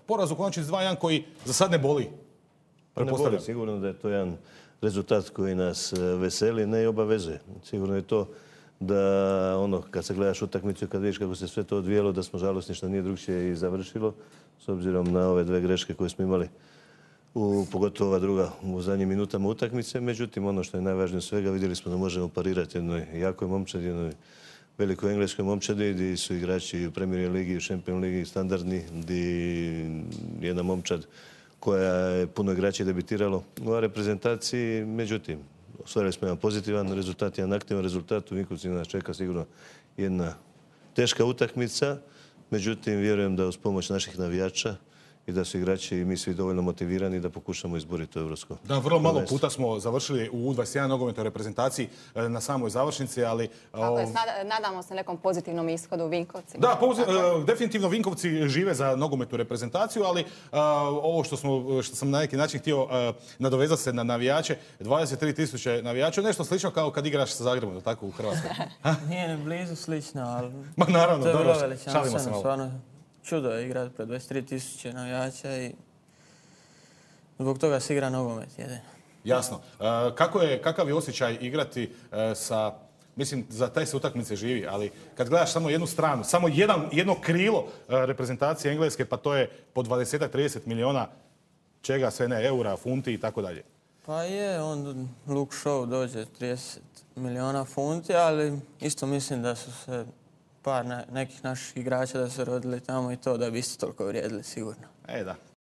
Poraz u konačnici 2:1 koji za sad ne boli. Pa ne boli, sigurno da je to jedan rezultat koji nas veseli, ne i obavezuje. Sigurno je to da kad se gledaš utakmicu i kad vidiš kako se sve to odvijelo, da smo žalosni što nije drugčije i završilo, s obzirom na ove dve greške koje smo imali, pogotovo ova druga u zadnjim minutama utakmice. Međutim, ono što je najvažnije od svega, vidjeli smo da možemo parirati jednoj jakoj momčadi, jednoj velikoj engleskoj momčadi, gdje su igrači u Premier ligi i u Champions ligi standardni, gdje jedna momčad koja je puno igrača debitiralo u ovoj reprezentaciji. Međutim, ostvarili smo jedan pozitivan rezultat, jedan aktivan rezultat. U Vinkovcima nas čeka sigurno jedna teška utakmica. Međutim, vjerujem da uz pomoć naših navijača i da su igrači i mi svi dovoljno motivirani da pokušamo izboriti to evropsko. Da, vrlo malo puta smo završili u U21 nogometnoj reprezentaciji na samoj završnici, ali... Nadamo se nekom pozitivnom ishodu u Vinkovcima. Da, definitivno Vinkovci žive za nogometnu reprezentaciju, ali ovo što sam na neki način htio nadovezati se na navijače, 23.000 navijača, nešto slično kao kad igraš sa Zagrebom, tako u Hrvatskoj. Nije ni blizu slično, ali... Ma naravno, dobro, šalimo se malo. Čudo je igrati pred 23.000 navijača i zbog toga se igra nogomet jedino. Jasno. Kakav je osjećaj igrati sa... Mislim, za taj se utakmice živi, ali kad gledaš samo jednu stranu, samo jedno krilo reprezentacije Engleske, pa to je po 20-30 miliona čega sve ne, eura, funti i tako dalje. Pa je, on Luke Shaw dođe 30 miliona funti, ali isto mislim da su se par nekih naših igrača da su rodili tamo i to da bi isto toliko vrijedili sigurno. Da.